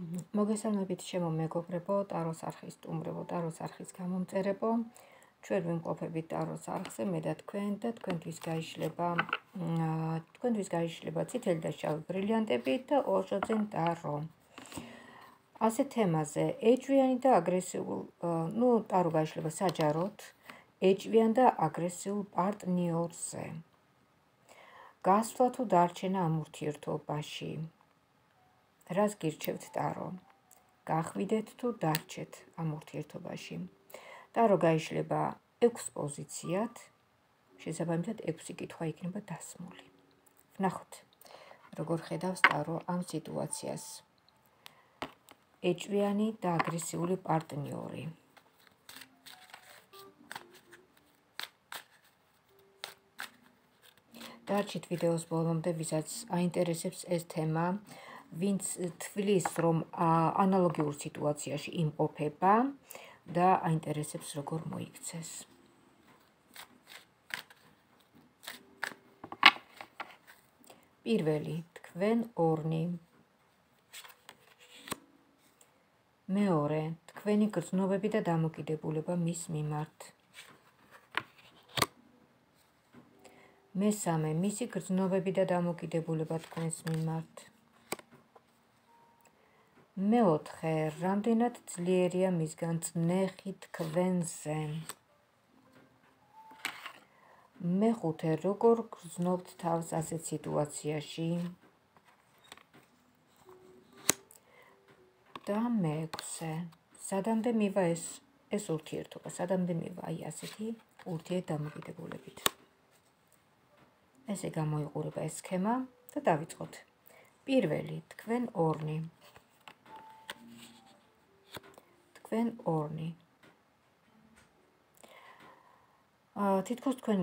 მოგესალმებით ჩემო მეგობრებო, ტაროს არხის სტუმრებო, ტაროს არხის გამომწერებო. ჩვენ ვიმყოფებით ტაროს არხზე, მე და თქვენ და თქვენთვის გაიშლება წითელი და შავი ბრილიანტები და ორჟოდენ ტარო. ასე თემაზე, ეჭვიანი და აგრესიულ, ტარო გაიშლება საჯაროდ, ეჭვიან და აგრესიულ პარტნიორზე. გასვლა თუ დარჩენა ამ ურთიერთობაში. რას გირჩევთ ტარო? გახვიდეთ თუ დარჩეთ ამ ურთიერთობაში. ტარო გაიშლება 6 პოზიციად, შესაბამისად 6 კითხვა იქნება დასმული. ვნახოთ, როგორ ხედავს ტარო ამ სიტუაციას. ეჭვიანი და აგრესიული პარტნიორი. დარჩით ვიდეოს ბოლომდე, ვისაც აინტერესებს ეს თემა, ვინც თვლის, რომ ანალოგიურ სიტუაციაში იმყოფება და აინტერესებს, როგორ მოიქცეს. პირველი, თქვენ ორნი. მეორე, თქვენი გრძნობები და დამოკიდებულება მის მიმართ. მესამე, მისი გრძნობები და დამოკიდებულება თქვენს მიმართ. მეოთხე, რამდენად ძლიერია მისგან წნეხი თქვენზე. მეხუთე, როგორ გრძნობთ თავს ასეთ სიტუაციაში. და მეექვსე, სადამდე მივა ეს ურთიერთობა, სადამდე მივა აი ასეთი ურთიერთდამოკიდებულებით. ესე გამოიყურება ეს სქემა და დავიწყოთ. პირველი, თქვენ ორნი. თქვენ ორნი. თითქოს თქვენ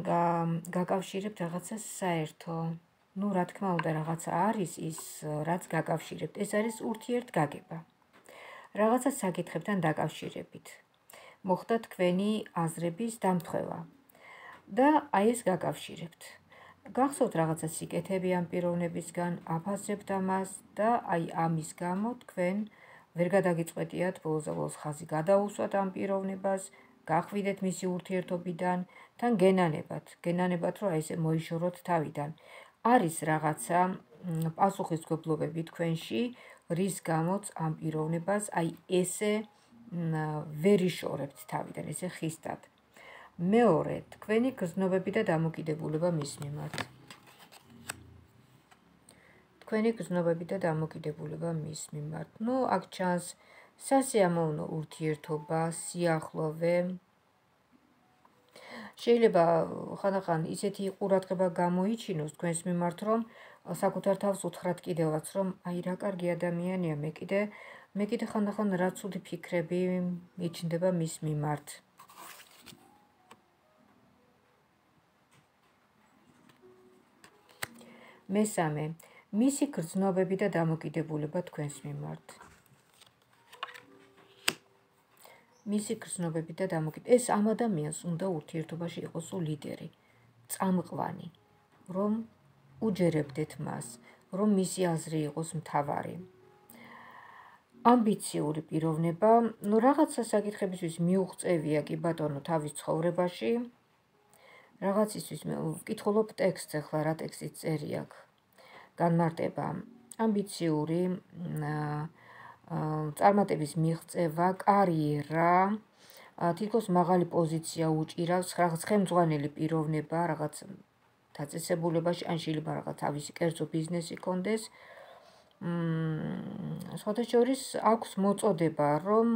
გაკავშირებთ რაღაცას საერთო. რა თქმა უნდა, რაღაცა არის ის, რაც გაკავშირებთ. ეს არის ურთიერთგაგება. რაღაცა საკითხებთან დაკავშირებით. მოხდა თქვენი აზრების დამთხვევა. და აი ეს გაკავშირებთ. გახსოვთ რაღაცა სიკეთები ამ პიროვნებისგან, აფასებთ ამას და აი ამის გამო თქვენ ვერ გადაგიწყვეტიათ ბოლოს ხაზი გადაუსვათ ამ პიროვნებას, გახვიდეთ მისი ურთიერთობიდან, თან გენანებათ, რომ აი ესე მოიშოროთ თავიდან. არის რაღაცა პასუხისმგებლობები თქვენში, რის გამოც ამ პიროვნებას აი ესე ვერ იშორებთ თავიდან, ესე ხისტად. მეორე, თქვენი გრძნობები და დამოკიდებულება მის მიმართ. თქვენი გრძნობები და დამოკიდებულება მის მიმართ. აქ ჩანს სასიამოვნო ურთიერთობა, სიახლოვე. შეიძლება ხანდახან ისეთი ყურადღება გამოიჩინოს თქვენს მიმართ, რომ საკუთარ თავს უთხრათ კიდევაც, რომ აი რა კარგი ადამიანია, მე კიდე ხანდახან რა ცუდი ფიქრები მიჩნდება მის მიმართ. მესამე, მისი გრძნობები და დამოკიდებულება თქვენს მიმართ. მისი გრძნობები და დამოკიდებულება. ეს ამ ადამიანს უნდა ურთიერთობაში იყოს ლიდერი, წამყვანი, რომ უჯერებდეთ მას, რომ მისი აზრი იყოს მთავარი. ამბიციური პიროვნება, რაღაცა საკითხებისთვის მიუღწევია კი ბატონო თავის ცხოვრებაში. რაღაცისთვის ვკითხულობ ტექსტს, ახლა რა ტექსტიც წერი აქ. განმარტება, ამბიციური, წარმატების მიღწევა, კარიერა, თითქოს მაღალი პოზიცია უჭირავს, რაღაც ხელმძღვანელი პიროვნება, რაღაც დაწესებულებაში, ან შეიძლება რაღაც თავისი კერძო ბიზნესი კონდეს. სხვათა შორის აქვს მოწოდება, რომ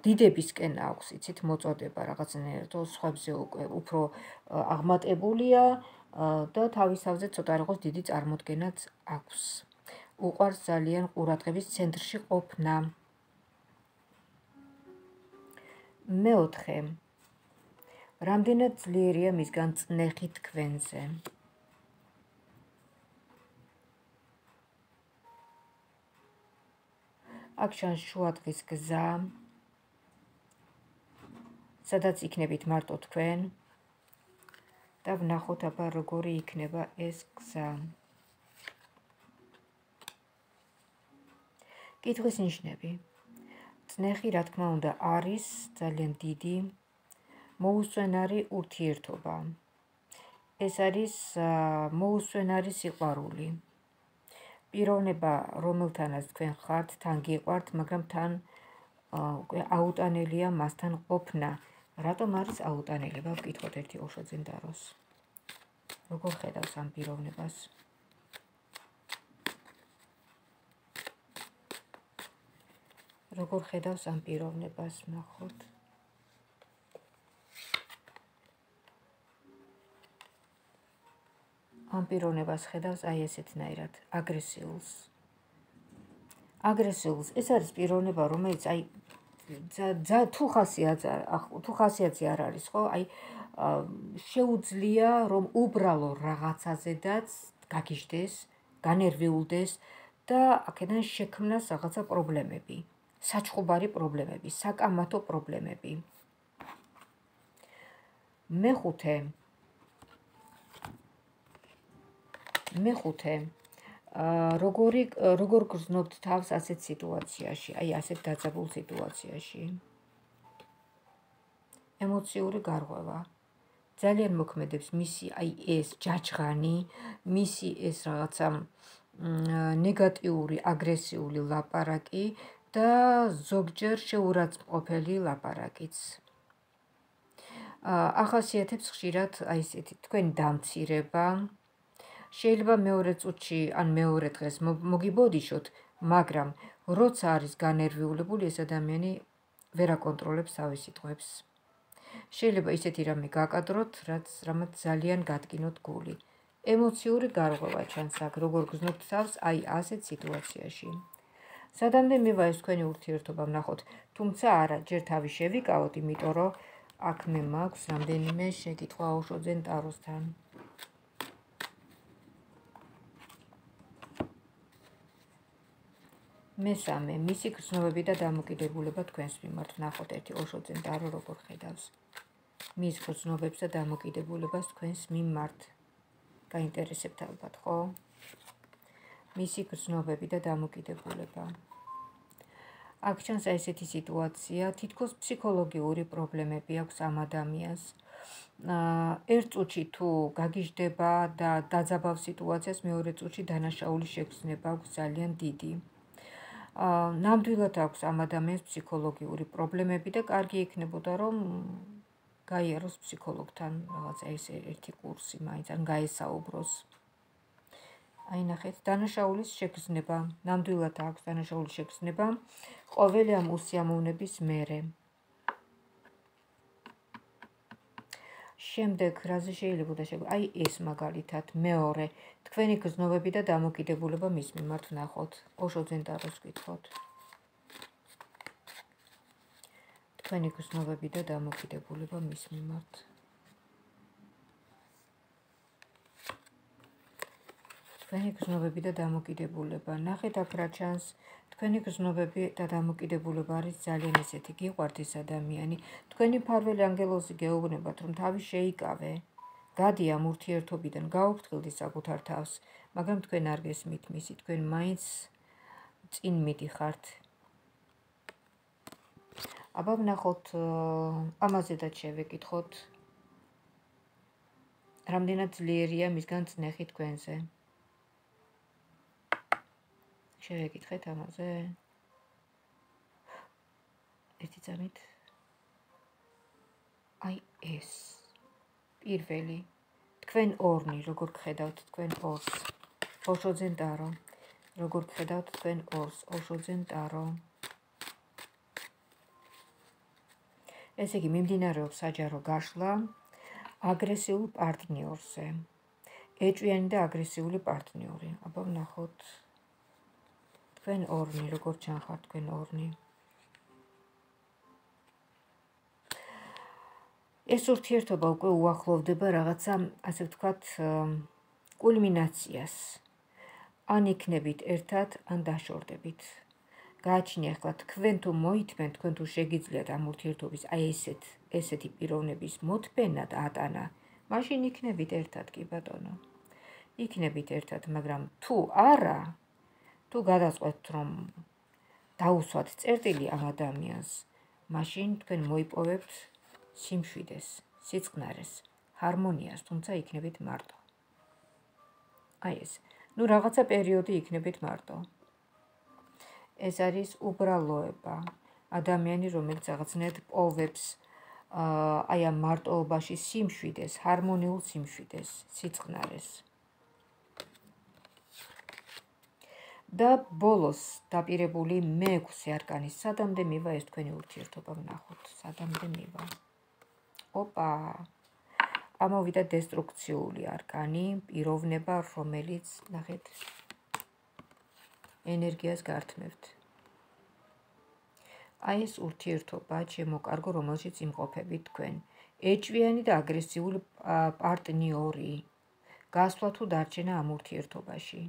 დიდებისკენ აქვს, იცით, მოწოდება რაღაცნაირად სხვებზე უფრო აღმატებულია და თავის თავზე ცოტა რაღაც დიდი წარმოდგენაც აქვს. უყვარს ძალიან ყურადღების ცენტრში ყოფნა. მეოთხე, რამდენად ძლიერია მისგან წნეხი თქვენზე. აქ ჩანს შუადღის გზა, სადაც იქნებით მარტო თქვენ და ვნახოთ აბა როგორი იქნება ეს გზა. კითხვის ნიშნები. წნეხი, რა თქმა უნდა, არის ძალიან დიდი მოუსვენარი ურთიერთობა. ეს არის მოუსვენარი სიყვარული. პიროვნება, რომელთანაც თქვენ ხართ, თან გიყვართ, მაგრამ თან აუტანელია მასთან ყოფნა. რატომ არის აუტანელება? ვკითხოთ ერთი ოშოძენ დაროს. როგორ ხედავს ამ პიროვნებას? როგორ ხედავს ამ პიროვნებას, ნახოთ. ამ პიროვნებას ხედავს აი ესეთნაირად, აგრესიულს. აგრესიულს, ეს არის პიროვნება, რომელიც აი თუ ხასიათზე არ არის, ხო? აი შეუძლია რომ უბრალო რაღაცაზედაც გაგიჟდეს, განერვიულდეს და აქედან შექმნას რაღაცა პრობლემები, საჩხუბარი პრობლემები, საკამათო პრობლემები. მეხუთე როგორ გრძნობთ თავს ასეთ სიტუაციაში, აი ასეთ დაძაბულ სიტუაციაში? ემოციური გარღვევა. ძალიან მოქმედებს მისი აი ეს ჯაჯღანი, მისი ეს რაღაცა ნეგატიური, აგრესიული ლაპარაკი და ზოგჯერ შეურაცხმყოფელი ლაპარაკიც. ახასიათებს ხშირად აი ესეთი თქვენი დამცირება. შეიძლება მეორე წუთში ან მეორე დღეს მოგიბოდიშოთ, მაგრამ როცა არის განერვიულებული, ეს ადამიანი ვერ აკონტროლებს თავის სიტყვებს. შეიძლება ისეთი რამე გაკადროთ, რამაც ძალიან გადგინოთ გული. ემოციური გარღვევა ჩანს აქ, როგორ გრძნობთ თავს აი ასეთ სიტუაციაში. სადამდე მივა ეს თქვენი ურთიერთობა, ვნახოთ, თუმცა არა, ჯერ თავი შევიკავოთ, იმიტომ რომ აქ მე მაქვს რამდენიმე შეკითხვა ოშოძენ ტაროსთან. მესამე, მისი გრძნობები და დამოკიდებულება თქვენს მიმართ. ვნახოთ ერთი ოშოძენ ტარო როგორ ხედავს მის გრძნობებს და დამოკიდებულებას თქვენს მიმართ. გაინტერესებთ ალბათ, ხო? მისი გრძნობები და დამოკიდებულება. აქ ჩანს ესეთი სიტუაცია, თითქოს ფსიქოლოგიური პრობლემები აქვს ამ ადამიანს. ერთ წუთში თუ გაგიჟდება და დაძაბავ სიტუაციას, მეორე წუთში დანაშაულის შეგრძნება აქვს ძალიან დიდი. ნამდვილად აქვს ამ ადამიანს ფსიქოლოგიური პრობლემები და კარგი იქნებოდა რომ გაიაროს ფსიქოლოგთან რაღაცა ეს ერთი კურსი მაინც ან გაესაუბროს. აი ნახეთ, დანაშაულის შეგრძნება, ნამდვილად აქვს დანაშაულის შეგრძნება ყოველი ამ უსიამოვნების მერე. შემდეგ რაზე შეიძლება და აი ეს მაგალითად მეორე თქვენი გრძნობები და დამოკიდებულება მის მიმართ. ვნახოთ, ოშოძენ ტაროს ვკითხოთ. თქვენი გრძნობები და დამოკიდებულება მის მიმართ. თქვენი გრძნობები და დამოკიდებულება. ნახეთ აქ რა ჩანს. თქვენი გრძნობები და დამოკიდებულება არის ძალიან ესეთი, გიყვართ ეს ადამიანი. თქვენი მფარველი ანგელოზი გეუბნებათ, რომ თავი შეიკავე, გადი ამ ურთიერთობიდან, გაუფრთხილდი საკუთარ თავს, მაგრამ თქვენ არ გესმით მისი, თქვენ მაინც წინ მიდიხართ. აბა ვნახოთ, ამაზედაც შევეკითხოთ, რამდენად ძლიერია მისგან წნეხი თქვენზე. შევეკითხეთ ამაზე. ერთი წამით. აი ეს. პირველი. თქვენ ორნი, როგორ გხედავთ თქვენ ორს. ოშოძენ ტარო. როგორ გხედავთ თქვენ ორს. ოშოძენ ტარო. ესე იგი, მიმდინარეობს საჯარო გაშლა აგრესიულ პარტნიორზე. ეჭვიანი და აგრესიული პარტნიორი. აბა ვნახოთ. თქვენ ორნი, როგორ ჩანხართ თქვენ ორნი. ეს ურთიერთობა უკვე უახლოვდება რაღაცა, ასე ვთქვათ, კულმინაციას. ან იქნებით ერთად, ან დაშორდებით. გააჩნია ახლა თქვენ თუ მოითმენ, თქვენ თუ შეგიძლიათ ამ ურთიერთობის აი ესეთი პიროვნების მოთმენა და ატანა, მაშინ იქნებით ერთად, კი ბატონო. იქნებით ერთად, მაგრამ თუ არა, თუ გადაწყვეტთ რომ დაუსვათ წერტილი ამ ადამიანს, მაშინ თქვენ მოიპოვებთ სიმშვიდეს, სიწყნარეს, ჰარმონიას, თუმცა იქნებით მარტო. აი ეს, რაღაცა პერიოდი იქნებით მარტო. ეს არის უბრალოება, ადამიანი, რომელიც რაღაცნაირად პოვებს აი ამ მარტოობაში სიმშვიდეს, ჰარმონიულ სიმშვიდეს, სიწყნარეს. და ბოლოს დაპირებული მე-6 არკანის სადამდე მივა ეს თქვენი ურთიერთობა ვნახოთ, სადამდე მივა. ოპა, ამოვიდა დესტრუქციული არკანი, პიროვნება, რომელიც, ნახეთ, ენერგიას გართმევთ. აი ეს ურთიერთობა, ჩემო კარგო, რომელშიც იმყოფებით თქვენ. ეჭვიანი და აგრესიული პარტნიორი. გასვლა თუ დარჩენა ამ ურთიერთობაში.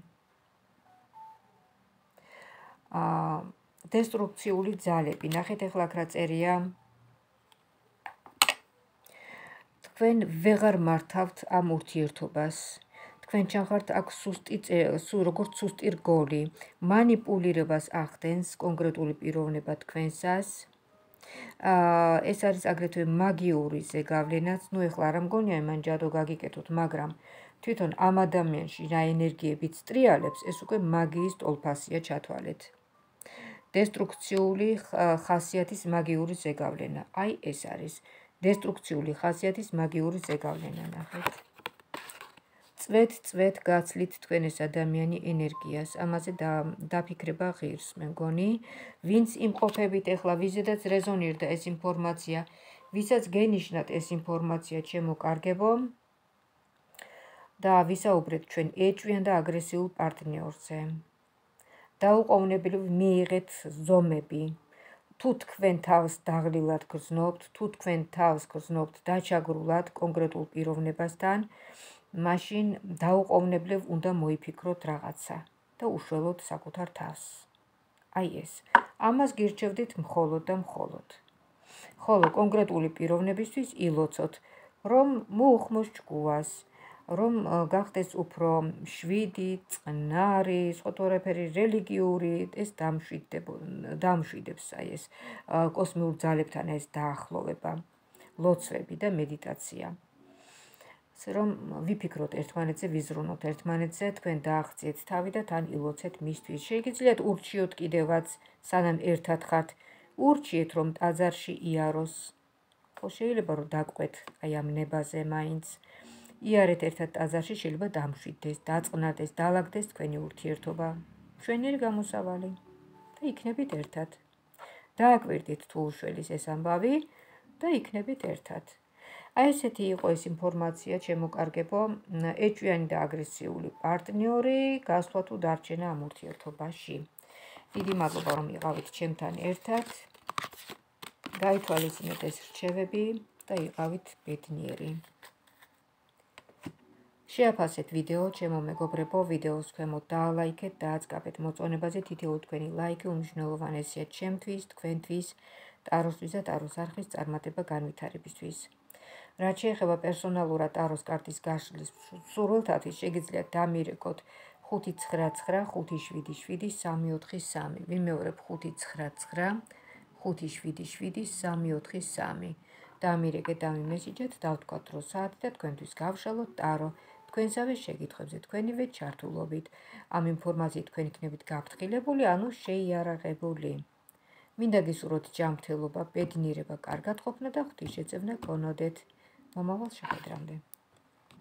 დესტრუქციული ძალები. ნახეთ ახლა აქ რა წერია. თქვენ ვეღარ მართავთ ამ ურთიერთობას. თქვენ ჩახართ აქ როგორც სუსტი რგოლი. მანიპულირებას ახდენს კონკრეტული პიროვნება თქვენსას. ეს არის აგრეთვე მაგიური ზეგავლენაც. ნუ ეხლა არ მგონია იმან ჯადო გაგიკეთოთ, მაგრამ თვითონ ამ ადამიანში რა ენერგიებიც ტრიალებს, ეს უკვე მაგიის ტოლფასია ჩათვალეთ. დესტრუქციული ხასიათის მაგიური ზეგავლენა. აი ეს არის დესტრუქციული ხასიათის მაგიური ზეგავლენა, ნახეთ. წვეთ გაცლით თქვენ ეს ადამიანი ენერგიას, ამაზე დაფიქრება ღირს, მე მგონი, ვინც იმყოფებით ეხლა, ვიზედაც რეზონირდა ეს ინფორმაცია, ვისაც გენიშნათ ეს ინფორმაცია, ჩემო კარგებო, და ვისაუბრეთ ჩვენ ეჭვიან და აგრესიულ პარტნიორზე. დაუყოვნებლივ მიიღეთ ზომები. თუ თქვენ თავს დაღლილად გრძნობთ, თუ თქვენ თავს გრძნობთ დაჩაგრულად კონკრეტულ პიროვნებასთან, მაშინ დაუყოვნებლივ უნდა მოიფიქროთ რაღაცა და უშველოთ საკუთარ თავს. აი ეს. ამას გირჩევდით მხოლოდ და მხოლოდ. ხოლო კონკრეტული პიროვნებისთვის ილოცოთ, რომ მოუხმოს ჭკუას, რომ გახდეს უფრო შვიდი, წყნარი, სხვადასხვაფერი რელიგიური, ეს დამშვიდებს აი ეს კოსმიურ ძალებთან ეს დაახლოვება, ლოცვები და მედიტაცია. რომ ვიფიქროთ ერთმანეთზე, ვიზრუნოთ ერთმანეთზე, თქვენ დააღწიეთ თავი და თან ილოცეთ მისთვის. შეგიძლიათ ურჩიოთ კიდევაც, სანამ ერთად ხართ, ურჩიეთ რომ ტაძარში იაროს. ხო შეიძლება რომ დაგყვეთ აი ამ ნებაზე მაინც. იარეთ ერთად ტაძარში, შეიძლება დამშვიდდეს, დაწყნარდეს, დაალაგდეს თქვენი ურთიერთობა. ჩვენერი გამოსავალი და იქნებით ერთად. დააკვირდით თუ უშველის ეს ამბავი და იქნებით ერთად. აი ესეთი იყო ეს ინფორმაცია, ჩემო კარგებო, ეჭვიანი და აგრესიული პარტნიორი, გასვლა თუ დარჩენა ამ ურთიერთობაში. დიდი მადლობა რომ იყავით ჩემთან ერთად. გაითვალისწინეთ ეს რჩევები და იყავით ბედნიერი. შეაფასეთ ვიდეო, ჩემო მეგობრებო, ვიდეოს ქვემოთ დაალაიქეთ და აწყაბეთ მოწონებაზე. თითოეული თქვენი ლაიქი უმნიშვნელოვანესია ჩემთვის, თქვენთვის, ტაროსთვის და ტაროს არხის წარმატება განვითარებისთვის. რაც შეეხება პერსონალურად ტაროს კარტის გაშლის სურვილთათვის, შეგიძლიათ დამირეკოთ 599577343. ვიმეორებ 599 577 დამირეკეთ, დამიმესიჯეთ, დავთქვათ რო საათი და თქვენთვის გავშალოთ ტარო. თქვენსავე შეკითხვებზე თქვენივე ჩართულობით. ამ ინფორმაციით თქვენ იქნებით გაფრთხილებული, ანუ შეიარაღებული. მინდა გისურვოთ ჯანმრთელობა, ბედნიერება, კარგად ყოფნა და ღვთისშეწევნა გქონოდეთ. მომავალ შეხვედრამდე.